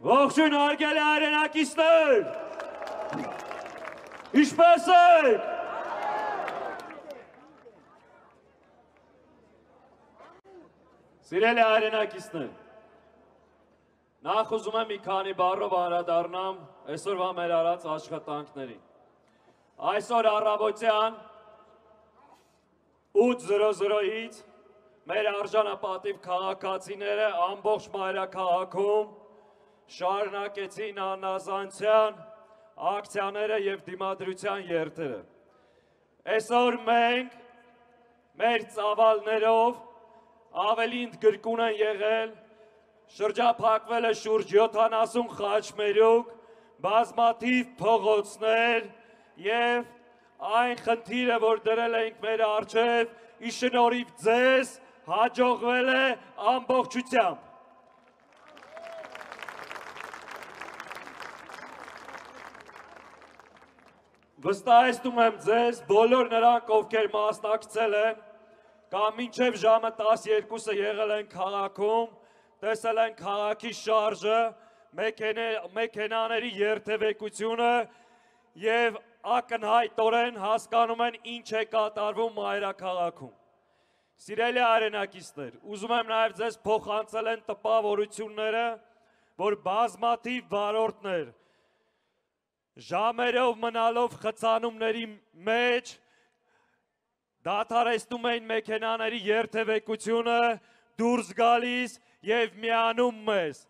Ողջույն հարգելի հայրենակիցներ, ինչպե՞ս եք։ Սիրելի հայրենակիցներ, նախ ուզում եմ մի քանի բառով անդրադառնամ այսօրվա մեր արած աշխատանքներին։ Այսօր առավոտյան 8:00-ից մեր արժանապատիվ քաղաքացիները ամբողջ մայրաքաղաքում շարունակեցին անազանցյան ակցիաները և դիմադրության երթերը։ Այսօր մենք մեր ծավալներով ավելի ընդգրկուն են եղել, շրջափակվել է շուրջ 70 խաչմերուկ, բազմաթիվ փողոցներ և այն խնդիրը, որ դրել էինք մեր առջև, ի շնորհիվ ձեզ հաջողվել է ամբողջությամբ։ Վստահեցնում եմ ձեզ, բոլոր նրանք, ովքեր մասնակցել են, կամ մինչև ժամը 12-ը եղել են քաղաքում, տեսել են քաղաքի շարժը, մեքենաների երթևեկությունը և ակնհայտորեն հասկանում են ինչ է կատարվում մայրաքաղաքում։ Սիրելի հայրենակիցներ, ուզում եմ նաև ձեզ փոխանցել են տպավորությունները, որ բազմաթիվ վարորդներ ժամերով մնալով խցանումների մեջ դադարեցնում էին մեքենաների երթևեկությունը, դուրս գալիս և միանում մեզ։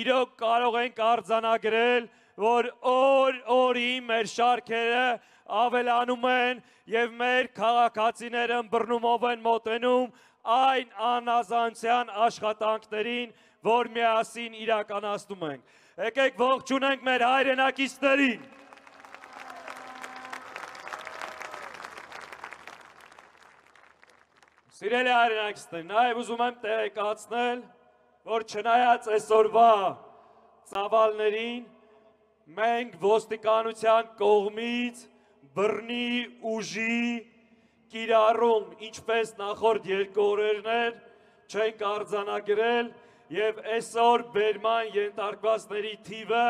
Իրոք կարող ենք արձանագրել, որ օր-օրի մեր շարքերը ավելանում են և մեր քաղաքացիները ըմբռնումով են մոտենում այն անազանցյան աշխատանքներին, որ միասին իրականացնում ենք։ Եկեք ողջունենք մեր հայրենակիցներին։ Սիրելի հայրենակիցներ, նաև ուզում եմ տեղեկացնել, որ չնայած այսօրվա ծավալներին, մենք ոստիկանության կողմից բռնի ուժի կիրառում, ինչպես նախորդ երկու օրերներ չենք արձանագրել և այսօր բերման ենթարկվածների թիվը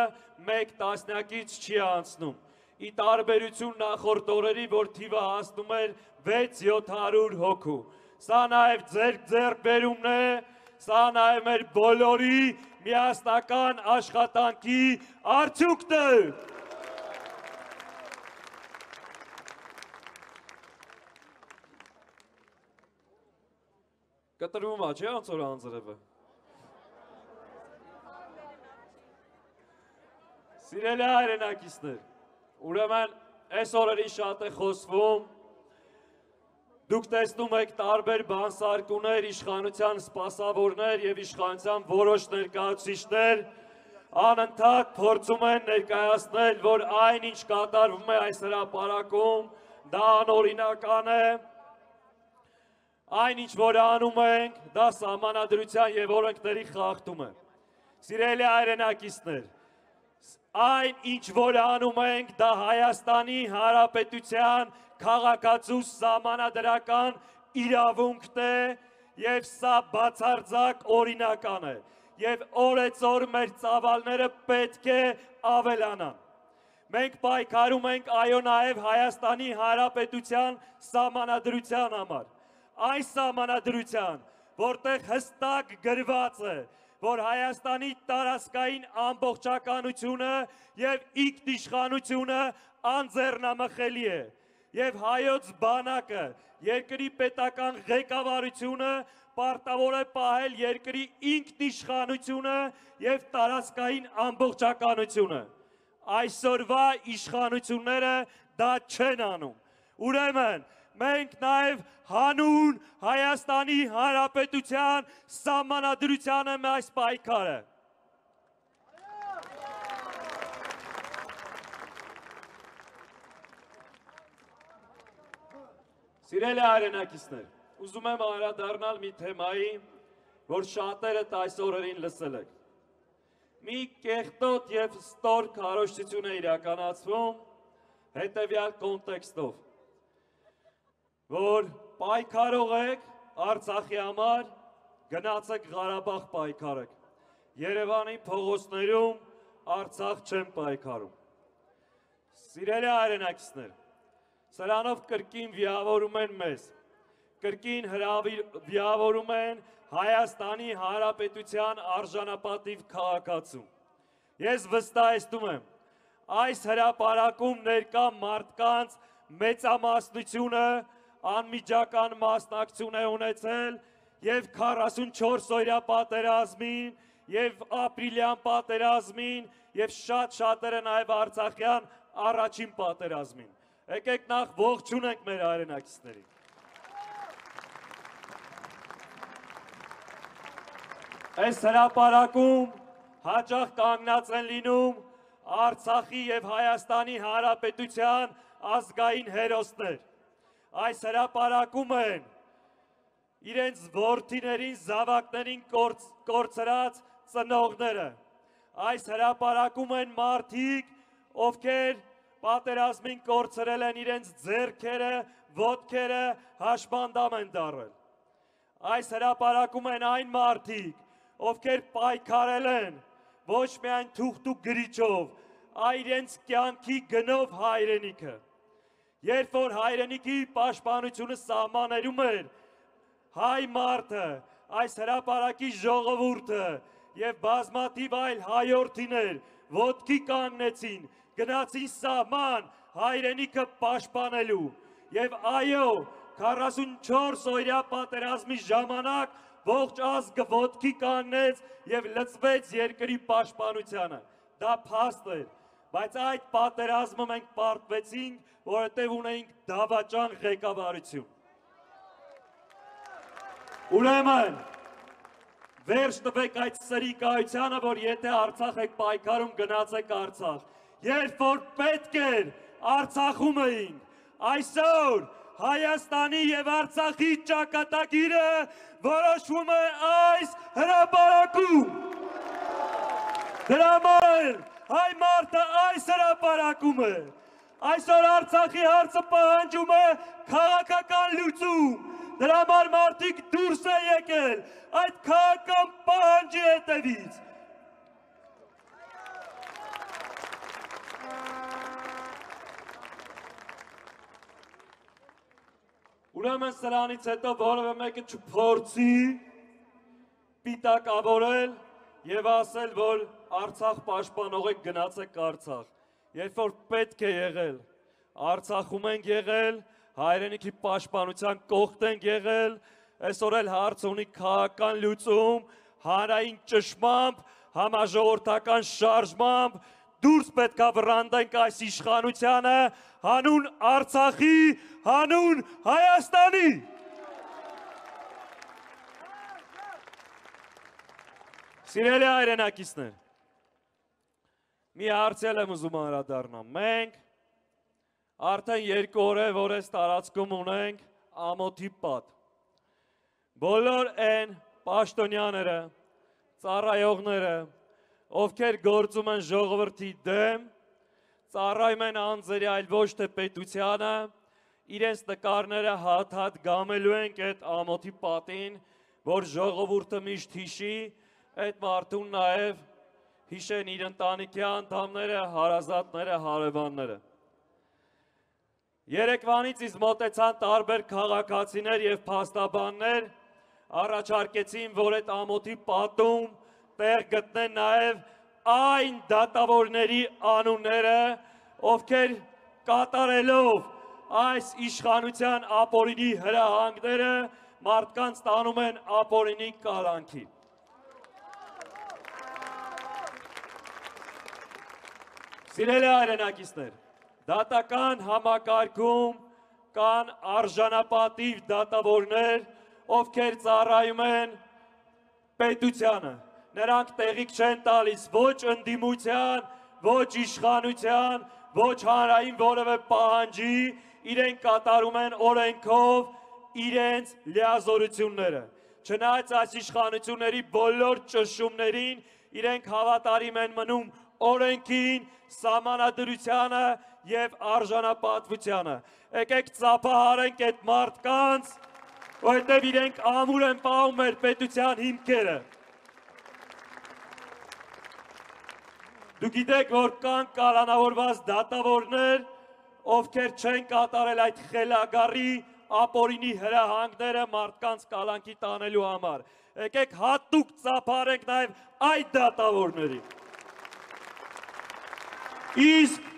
1 տասնյակից չի անցնում։ Ի տարբերություն նախորդ օրերի, որ թիվը հասնում էր 600-700 հոգու։ Սա նաև ձեր ձեռքբերումն է, սա նաև մեր բոլորի միասնական աշխատանքի արդյունքն է։ Կտրվում է, չէ՞ անց որ անձրևը։ Սիրելի հայրենակիցներ, ուրեմն այս օրերին շատ է խոսվում, դուք տեսնում եք տարբեր բանսարկուներ, իշխանության սպասավորներ և իշխանության որոշ ներկայացուցիչներ անընդհատ փորձում են ներկայացնել, որ այն ինչ կատարվում է այս հրապարակում, դա անօրինական է, այն ինչ որ անում ենք, դա սահմանադրության և օրենքների խախտում է։ Սիրելի հայրենակիցներ, այն ինչ որ անում ենք, դա Հայաստանի Հանրապետության քաղաքացու սահմանադրական իրավունքն է և սա բացարձակ օրինական է և օրեցօր մեր ծավալները պետք է ավելանան։ Մենք պայքարում ենք այո նաև Հայաստանի Հանրապետության սահմանադրության համար։ Այն սահմանադրության, որտեղ հստակ գրված է, որ Հայաստանի տարածքային ամբողջականությունը և ինքնիշխանությունը անձեռնամխելի է և հայոց բանակը, երկրի պետական ղեկավարությունը պարտավոր է պահել երկրի ինքնիշխանությունը և տարածքային ամբողջականությունը։ Այսօրվա իշխանությունները դա չեն անում։ Ուրեմն, մենք նաև հանուն Հայաստանի Հանրապետության սահմանադրության եմ այս պայքարը։ Սիրելի հայրենակիցներ, ուզում եմ անդրադառնալ մի թեմայի, որ շատերդ այս օրերին լսել եք։ Մի կեղտոտ և ստոր քարոզչություն է իրականացվում հետևյալ կոնտեքստով, որ պայքարող եք Արցախի համար, գնացեք Ղարաբաղ պայքարեք։ Երևանի փողոցներում Արցախ չեն պայքարում։ Սիրելի հայրենակիցներ, սրանով կրկին վիավորում են մեզ, կրկին վիավորում են Հայաստանի Հանրապետության արժանապատիվ քաղաքացու։ Ես վստահեցնում եմ, այս հրապարակում ներկա մարդկանց մեծամասնությունը անմիջական մասնակցություն է ունեցել և 44-օրյա պատերազմին, և ապրիլյան պատերազմին, և շատ-շատերը նաև արցախյան առաջին պատերազմին։ Եկեք նախ ողջունենք մեր հայրենակիցներին։ Այս հրապարակում հաճախ կանգնած են լինում Արցախի և Հայաստանի Հանրապետության ազգային հերոսներ։ Այս հրապարակում են իրենց որդիներին, զավակներին կորցրած ծնողները։ Այս հրապարակում են մարդիկ, ովքեր պատերազմին կորցրել են իրենց ձեռքերը, ոտքերը, հաշմանդամ են դառել։ Այս հրապարակում են այն մարդիկ, ովքեր պայքարել են ոչ միայն թուղթ ու գրիչով, այլ իրենց կյանքի գնով հայրենիքը։ Երբ որ հայրենիքի պաշտպանությունը սահմաններում էր, հայ մարդը, այս հրապարակի ժողովուրդը և բազմաթիվ այլ հայորդիներ ոտքի կանգնեցին, գնացին սահման հայրենիքը պաշտպանելու և այո, 44-օրյա պատերազմի ժամանակ ողջ ազգը ոտքի կանգնեց և լծվեց երկրի պաշտպանությանը։ Դա փաստ էր, բայց այդ պատերազմը մենք պարտվեցինք, որովհետև ունեինք դավաճան ղեկավարություն։ Ուրեմն, վերջ տվեք այդ սրիկայությանը, որ եթե Արցախ եք պայքարում, գնացեք Արցախ։ Երբ որ պետք էր, Արցախում էինք, այսօր Հայաստանի և Արցախի ճակատագիրը որոշվում է այս հրապարակում։ Դրա համար հայ մարդը այս հրապարակում է։ Այսօր Արցախի հարցը պահանջում է քաղաքական լուծում։ Դրա համար մարդիկ դուրս է եկել այդ քաղաքական պահանջի հետևից։ Ուրեմն սրանից հետո որևէ մեկը չփորձի պիտակավորել և ասել, որ Արցախ պաշտպանող եք, գնացեք Արցախ։ Երբ որ պետք է եղել, Արցախում ենք եղել, հայրենիքի պաշտպանության կողքն ենք եղել, այսօր էլ հարց ունի քաղաքական լուծում, հանրային ճշմամբ, համաժողովրդական շարժմամբ, դուրս պետք է վռնդենք այս իշխանությանը, հանուն Արցախի, հանուն Հայաստանի։ Սիրելի հայրենակիցներ, մի հարցել եմ ուզում անդրադառնամ։ Մենք արդեն 2 օր է, որ այս տարածքում ունենք ամոթի պատ։ Բոլոր այն պաշտոնյաները, ծառայողները, ովքեր գործում են ժողովրդի դեմ, ծառայում են անձերի, այլ ոչ թե պետությանը, իրենց նկարները հատ-հատ գամելու ենք այդ ամոթի պատին, որ ժողովուրդը միշտ հիշի, այդ մարդուն նաև հիշեն իր ընտանիքի անդամները, հարազատները, հարևանները։ Երեկվանից ինձ մոտեցան տարբեր քաղաքացիներ և փաստաբաններ, առաջարկեցին, որ այդ ամոթի պատում տեղ գտնեն նաև այն դատավորների անունները, ովքեր կատարելով այս իշխանության ապօրինի հրահանգները մարդկանց տանում են ապօրինի կալանքի։ Սիրելի հայրենակիցներ, դատական համակարգում կան արժանապատիվ դատավորներ, ովքեր ծառայում են պետությանը։ Նրանք տեղիք չեն տալիս ոչ ընդդիմության, ոչ իշխանության, ոչ հանրային որևէ պահանջի, իրենք կատարում են օրենքով իրենց լիազորությունները։ Չնայած այս իշխանությունների բոլոր ճնշումներին, իրենք հավատարիմ են մնում օրենքին, սահմանադրությանը և արժանապատվությանը։ Եկեք ծափահարենք այդ մարդկանց, որովհետև իրենք ամուր են պահում մեր պետության հիմքերը։ Դուք գիտեք, որ կան կալանավորված դատավորներ, ովքեր չեն կատարել այդ խելագարի ապօրինի հրահանգները մարդկանց կալանքի տանելու համար։ Եկեք հատուկ ծափարենք նաև այդ դատավորներին։ Իսկ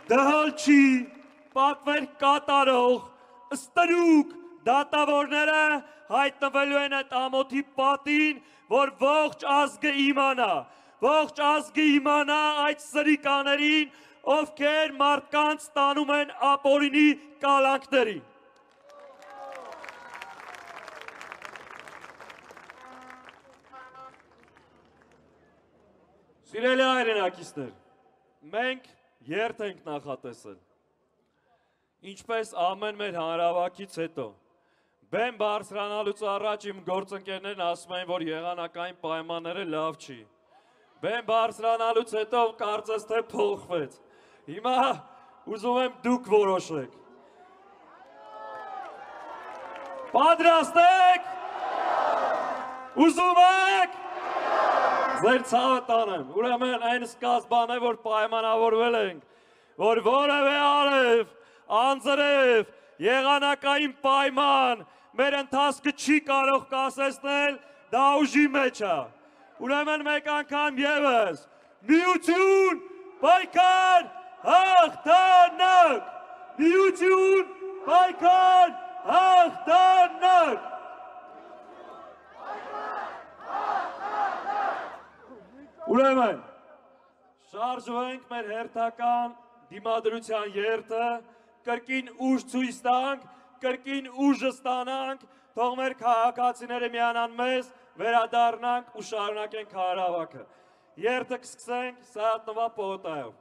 դհալչի պատվեր կատարող ստրուկ դատավորները հայտնվելու են այդ ամոթի պատին, որ ողջ ազգը իմանա այդ սրիկաներին, ովքեր մարդկանց տանում են ապօրինի կալանքների։ Սիրելի հայրենակիցներ, մենք երթ ենք նախատեսել, ինչպես ամեն մեր հանրավակից հետո, բեմ բարձրանալուց առաջ իմ գործընկերներն ասում են, որ եղանակային պայմանները լավ չի, բեմ բարձրանալուց հետո կարծես թե փոխվեց, հիմա ուզում եմ դուք որոշեք, պատրաստ եք, ուզում եք, ձեր ցավը տանեմ, ուրեմն այն սկզբան է, որ պայմանավորվել ենք, որ որևէ արև, անձրև, եղանակային պայման, մեր ընթացքը չի կարող կասեցնել, դա ուժի մեջ է, ուրեմն մեկ անգամ ևս, միություն, պայքար, հաղթանակ, միություն, պայքար, հաղթանակ, Ուրեմն, շարժվենք մեր հերթական դիմադրության երթը, կրկին ուժ ցույց տանք, կրկին ուժը ստանանք, թող մեր քաղաքացիները միանան մեզ, վերադառնանք ու շարունակենք հանրահավաքը։ Երթը կսկսենք Սայաթ Նովա պողոտայով։